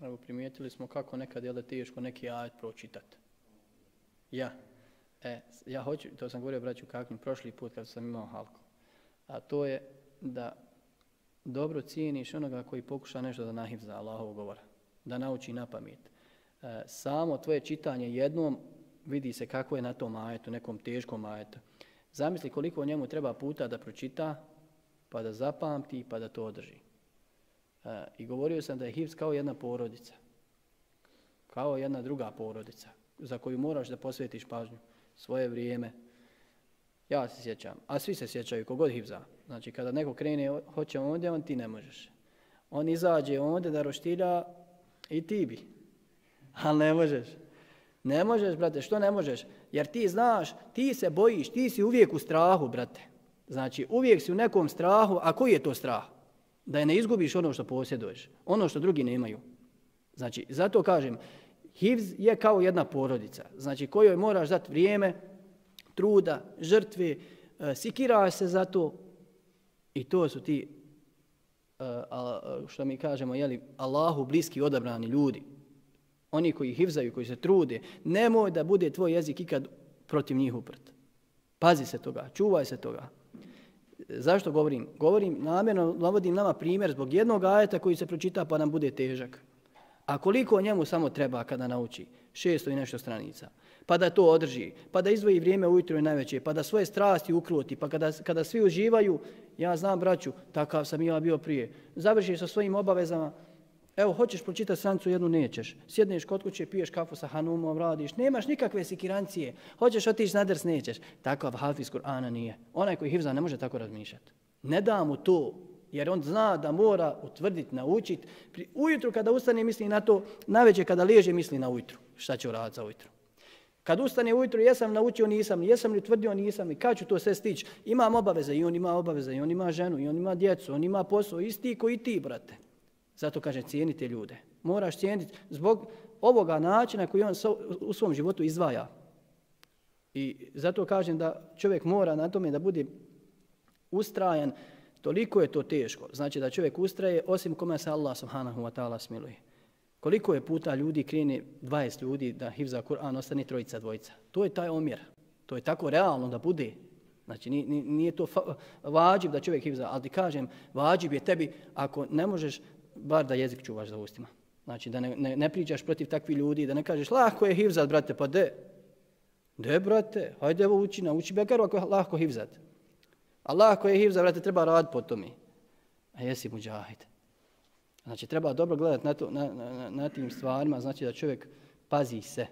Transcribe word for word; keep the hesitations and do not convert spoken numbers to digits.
nego primijetili smo kako nekad je da teško neki ajet pročitati. Ja. E, ja hoću, to sam govorio braću kakvim prošli put kad sam imao halku. A to je da dobro cijeniš onoga koji pokuša nešto da nahifza Allahovog govora, da nauči na pamet. E, samo tvoje čitanje jednom vidi se kako je na tom ajetu, nekom teškom ajetu. Zamisli koliko njemu treba puta da pročita, pa da zapamti, pa da to održi. E, I govorio sam da je hifz kao jedna porodica, kao jedna druga porodica, za koju moraš da posvetiš pažnju, svoje vrijeme. Ja se sjećam, a svi se sjećaju, kogod hifza. Znači, kada neko krene, hoće ondje, on ti ne možeš. On izađe ondje da roštilja i ti bi. Ali ne možeš. Ne možeš, brate, što ne možeš? Jer ti znaš, ti se bojiš, ti si uvijek u strahu, brate. Znači, uvijek si u nekom strahu, a koji je to strah? Da je ne izgubiš ono što posjeduješ, ono što drugi nemaju. Znači, zato kažem, hifz je kao jedna porodica, znači kojoj moraš dati vrijeme, truda, žrtve, e, sikiraš se za to i to su ti, e, a, što mi kažemo, jeli, Allahu bliski odabrani ljudi. Oni koji hifzaju, koji se trude, nemoj da bude tvoj jezik ikad protiv njih uprt. Pazi se toga, čuvaj se toga. Zašto govorim? Govorim, namjerno navodim nama primjer zbog jednog ajeta koji se pročita pa nam bude težak. A koliko njemu samo treba kada nauči? Šesto i nešto stranica. Pa da to održi, pa da izdvoji vrijeme ujutro i najveće, pa da svoje strasti ukroti, pa kada, kada svi uživaju, ja znam braću, takav sam ja bio prije, završiš sa svojim obavezama, evo, hoćeš pročitati stranicu, jednu nećeš, sjedneš kod kuće, piješ kafu sa hanumom, radiš, nemaš nikakve sikirancije, hoćeš otići na ders, nećeš. Takav hafiz Kur'ana nije. Onaj koji hifza ne može tako razmišljati. Ne da mu to. Jer on zna da mora utvrditi, naučiti. Ujutru kada ustane misli na to, navečer kada liježe misli na ujutru. Šta će uraditi za ujutru? Kad ustane ujutru, jesam naučio, nisam, jesam li utvrdio, nisam i kad ću to sve stići? Imam obaveze i on ima obaveze i on ima ženu i on ima djecu, on ima posao, isti koji ti, brate. Zato kaže cijenite ljude. Moraš cijeniti zbog ovoga načina koji on u svom životu izdvaja. I zato kažem da čovjek mora na tome da bude ustrajan. Toliko je to teško. Znači da čovjek ustraje osim kome se Allah subhanahu wa ta'ala smiluje. Koliko je puta ljudi krene dvadeset ljudi da hifza Kur'an, ostane trojica, dvojica. To je taj omjer. To je tako realno da bude. Znači nije, nije to vađib da čovjek hifza, ali ti kažem, vađib je tebi ako ne možeš bar da jezik čuvaš za ustima. Znači da ne, ne, ne pričaš protiv takvih ljudi, da ne kažeš lahko je hifzat, brate, pa de. De, brate, hajde evo uči, nauči bekaru ako je lahko hifzat. Allah koji je hifza, brate, treba raditi po tome. A jesi muđahid. Znači, treba dobro gledati na, to, na, na, na tim stvarima, znači da čovjek pazi se.